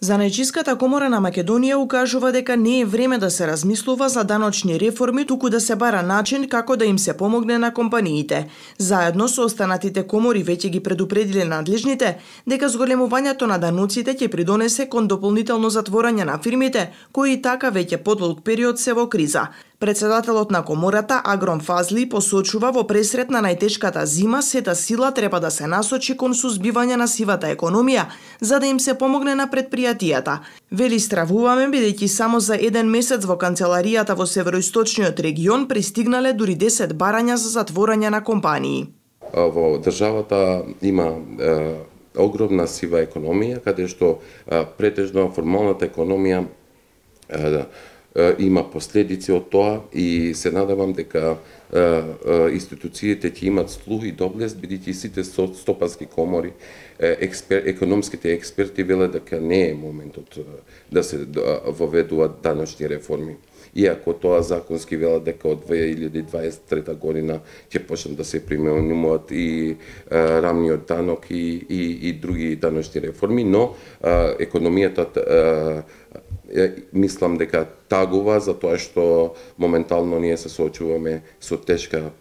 Занајчиската комора на Македонија укажува дека не е време да се размислува за даночни реформи, туку да се бара начин како да им се помогне на компаниите. Заедно со останатите комори веќе ги предупредиле надлежните дека зголемувањето на даноците ќе придонесе кон дополнително затворање на фирмите, кои така веќе подолг период се во криза. Председателот на комората Агрон Фазли посочува во пресрет на најтешката зима сета сила треба да се насочи кон сузбивање на сивата економија, за да им се помогне на предпријатијата. Вели, стравуваме бидејќи само за еден месец во канцеларијата во североисточниот регион пристигнале дури 10 барања за затворање на компании. Во државата има огромна сива економија, каде што претежно формалната економија има последици од тоа и се надевам дека институциите ќе имат слух и доблест, бидејќи сите стопански комори, економските експерти велат дека не е моментот да се воведуваат даночни реформи. Иако тоа законски велат дека од 2023 година ќе почнат да се применуваат и рамниот данок и други даночни реформи, но економијата мислам дека тагува за тоа што моментално ние се соочуваме со тешка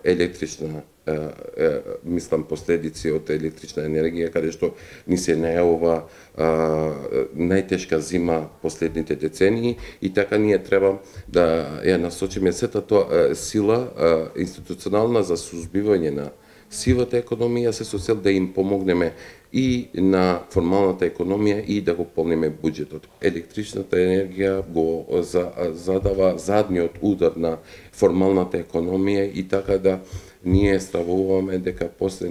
електрична мислам последици од електрична енергија, каде што ни се најавува најтешка зима последните децении и така ние треба да ја насочиме сета тоа сила институционална за сузбивање на сивата економија се со цел да им помогнеме и на формалната економија и да го полниме буџетот. Електричната енергија го задава задниот удар на формалната економија и така да ние стравуваме дека после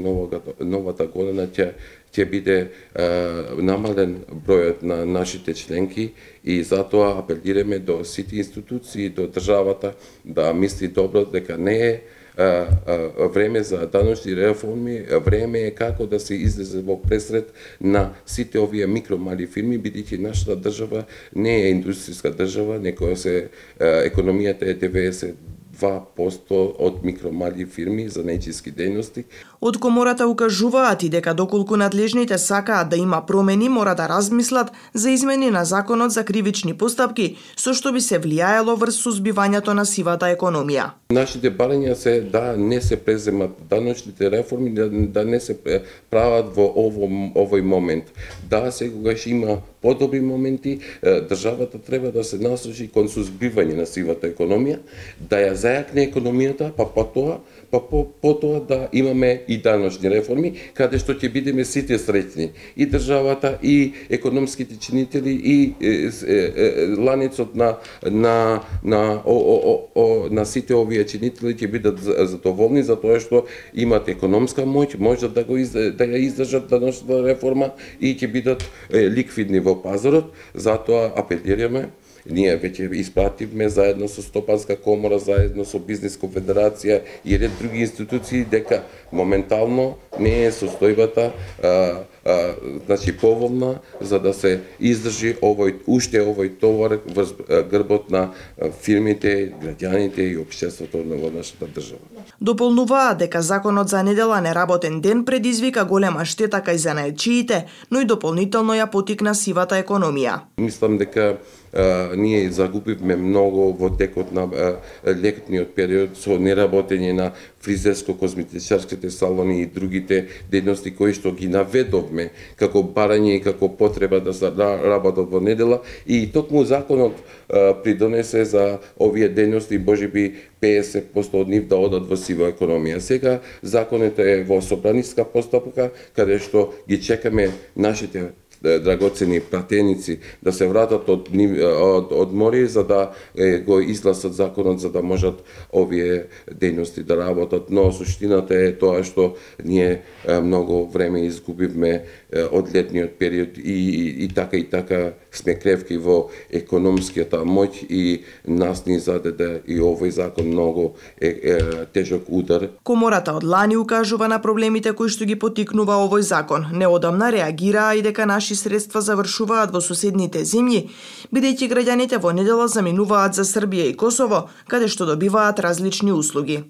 новата година ќе биде намален бројот на нашите членки и затоа апелираме до сите институции, до државата да мисли добро дека не е време за даночни реформи, време е како да се излезе во пресрет на сите овие микромали фирми, бидејќи нашата држава не е индустријска држава, некоја се економијата е 92% од микромали фирми за најчиски дејности. Од комората укажуваат и дека доколку надлежните сакаат да има промени, мора да размислат за измени на законот за кривични постапки, со што би се влијаело врз сузбивањето на сивата економија. Нашите барања се да не се преземат даночните реформи, да не се прават во овој момент. Да, секогаш има подобри моменти, државата треба да се насочи кон сузбивање на сивата економија, да ја зајакне економијата, потоа да имаме и даночни реформи, каде што ќе бидеме сите среќни. И државата, и економските чинители, и ланецот на сите овие чинители ќе бидат задоволни за тоа што имат економска моќ, можат да ја издржат даночната реформа и ќе бидат ликвидни во пазарот. Затоа апелираме. Ние веќе испративме заедно со Стопанска комора, заедно со Бизнес конфедерација и ред други институции дека моментално не е состојбата поволна за да се издржи овој товар врз грбот на фирмите, граѓаните и општеството во нашата држава. Дополнуваат дека законот за недела неработен ден предизвика голема штета кај занаетчиите, но и дополнително ја поттикна сивата економија. Мислам дека ние загубивме многу во текот на летниот период со неработење на фризерско-козметичарските салони и другите дејности кои што ги наведовме како барање и како потреба да се работат во недела и токму законот придонесе за овие дејности можеби 50% од нив да одат во сива економија. Сега законот е во собраниска постапка каде што ги чекаме нашите драгоцени пратеници да се вратат од море за да го изгласат законот за да можат овие дејности да работат, но суштината е тоа што ние многу време изгубивме од летниот период и така сме кревки во економската моќ и нас ни зададе и овој закон многу тежок удар. Комората од лани укажува на проблемите кои што ги поттикнува овој закон. Неодамна реагираа и дека наши средства завршуваат во соседните земји, бидејќи граѓаните во недела заминуваат за Србија и Косово, каде што добиваат различни услуги.